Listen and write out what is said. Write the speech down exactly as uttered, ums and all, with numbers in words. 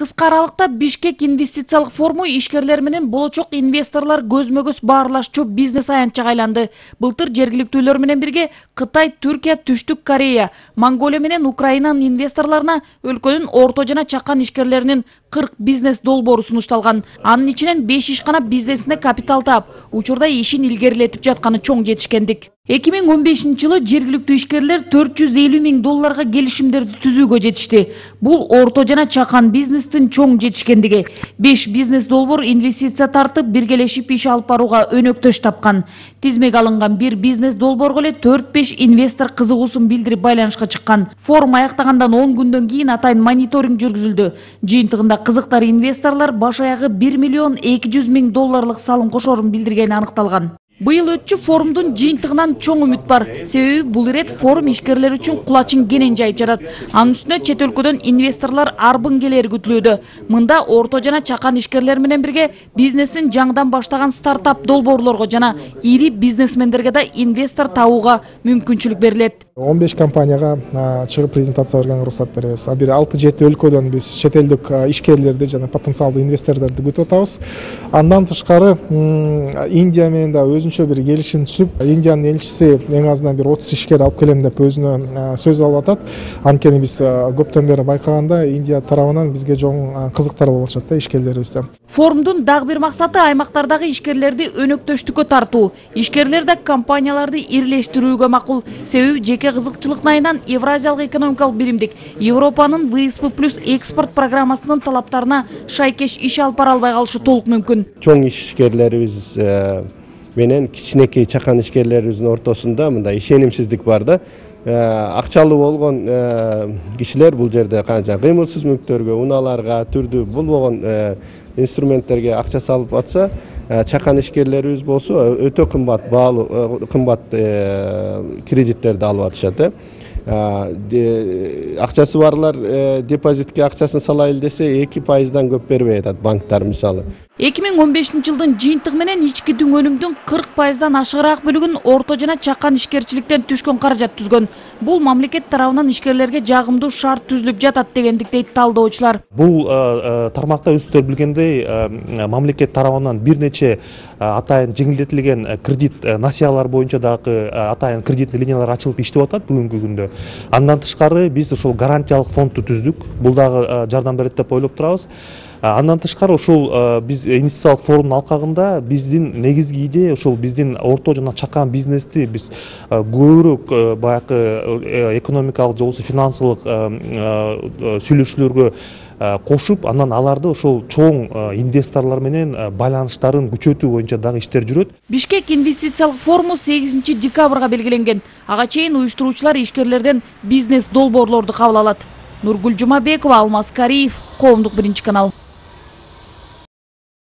Кыска аралыкта Бишкек инвестициялык форуму ишкерлер менен болочок инвесторлар көзмө-көз баарлашчу бизнес аянтчага айланды. Былтыр жергиликтүүлөр менен бирге Кытай, Түркия, Түштүк Корея, Монголия менен Украинанын инвесторлоруна өлкөнүн орто жана чакан ишкерлеринин кырк бизнес долбоору сунушталган. Анын ичинен беш ишкана бизнесине капитал таап, учурда ишин илгерилетип жатканы чоң жетишкендик. эки миң он бешинчи жылы жергиликтүү ишкерлер төрт жүз элүү миң долларга келишимдерди түзүүгө жетишти. Бул орто жана чакан бизнестин чоң жетишкендиги. беш бизнес долбоор инвестиция тартып, биргелешип иш алып барууга өнөктөш тапкан. Тизмеге алынган бир бизнес долбоорго эле төрт беш инвестор кызыгуусун билдирип байланышка чыккан. Форум аяктагандан он күндөн кийин атайын мониторинг жүргүзүлдү. Жыйынтыгында кызыктар инвесторлор баш аягы бир миллион эки жүз миң долларлык салым кошорун билдиргени аныкталган. Быйыл өтчү форумдун жыйынтыгынан чоң үмүт бар. Себеби бул ирет форум ишкерлер үчүн кулачын кенен жайып жатат. Анын үстүнө чет өлкөдөн инвесторлор арбын келери күтүлүүдө. Мында орто жана чакан ишкерлер менен бирге бизнесин жаңыдан баштаган стартап долбоорлорго жана ири бизнесмендерге да инвестор табууга мүмкүнчүлүк берилет. он беш компанияга чыгып презентация бергенге уруксат беребиз. А бир алты жети өлкөдөн биз чет элдик ишкерлерди жана потенциалдуу инвесторлорду күтүп атабыз. Андан тышкары Индия менен да өзүнчө бир келишим түзүп, Индиянын элчиси эң азынан бир отуз ишкер алып келем деп өзүнө сөз алып атат. Анткени биз көптөн бери байкаганда Индия тарабынан бизге жоң кызыктар болуп атышат да ишкерлерибизде. Форумдун дагы бир максаты аймактардагы ишкерлерди өнөктөштүккө тартуу. Ишкерлер да компанияларды ирилештирүүгө макул. Себеби жеке кызыкчылык айынан Евразиялык экономикалык биримдик Европанын вэ эс пэ плюс экспорт программасынын талаптарына шайкеш иш алып бара албай калышы толук мүмкүн. Чоң ишкерлерибиз менен кичинекей чакан ишкерлерибиздин ортосунда мындай ишенимсиздик бар да. Акчалуу болгон кишилер бул жерде канча кыймылсыз мүлктөргө, унааларга, түрдүү болгон инструменттерге акча салып атса, чакан ишкерлерибиз болсо өтө кымбат баалуу кымбат кредиттерди алып атышат. Акчасы барлар депозитке акчасын салайыл десе эки пайыздан көп бербей атат банктар мисалы. эки миң он бешинчи жылдын жыйынтыгы менен ички өнүмдүн кырк пайыздан ашыгыраак бөлүгүн орто жана чакан ишкерчиликтен түшкөн каражат түзгөн. Бул мамлекет тарабынан ишкерлерге жагымдуу шарт түзүлүп жатат дегендик дейт талдоочулар. Бул тармакта өздөрү билгендей мамлекет тарабынан бир нече атайын жеңилдетилген кредит насыялар боюнча дагы атайын кредитный линиялар ачылып иштеп атат бүгүнкү күндө. Андан тышкары биз ошол гарантиялык фондду түздүк. Бул дагы жардам берет деп ойлоп турабыз. Андан тышкары ушул биз инвестициялык форумдун алкагында биздин негизги идея ушул биздин орто жана чакан бизнести биз көбүрөөк баягы экономикалык же болбосо финансылык сүйлөшүүлөргө кошуп, анан аларды ошол чоң инвесторлор менен байланыштарын күчөтүү боюнча дагы иштер жүрөт. Бишкек инвестициялык форуму сегизинчи декабрга белгиленген. Ага чейин уюштуруучулар ишкерлерден бизнес долбоорлорду кабыл алат. Нургүл Жумабекова, Алмаз Кариев, Коомдук биринчи канал.